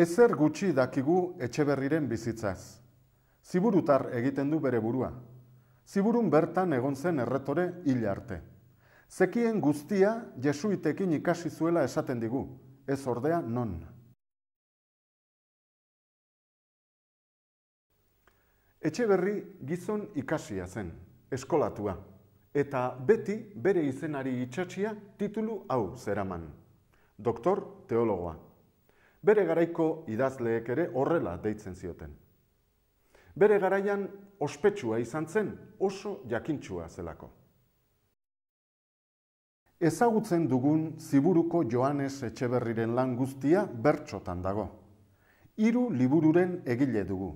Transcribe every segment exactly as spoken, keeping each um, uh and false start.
Ezer gutxi dakigu Etxeberriren bizitzaz. Ziburutar egiten du bere burua. Ziburun bertan egon zen erretore hil arte. Zekien guztia jesuitekin ikasi zuela esaten digu, ez ordea non. Etxeberri gizon ikasia zen, eskolatua, eta beti bere izenari itxatxia titulu hau zeraman. Doktor teologoa. Bere garaiko idazleek ere horrela deitzen zioten. Bere garaian ospetsua izan zen, oso jakintsua zelako. Ezagutzen dugun Ziburuko Joanes Etxeberriren lan guztia bertsotan dago. Hiru libururen egile dugu.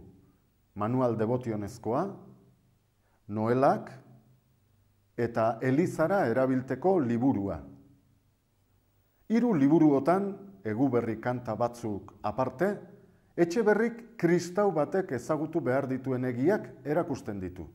Manual Devotionezkoa, Noelak eta Elizara erabilteko liburua. Hiru liburuotan, Eguberri kanta batzuk aparte, Etxeberrik kristau batek ezagutu behar dituen egiak erakusten ditu.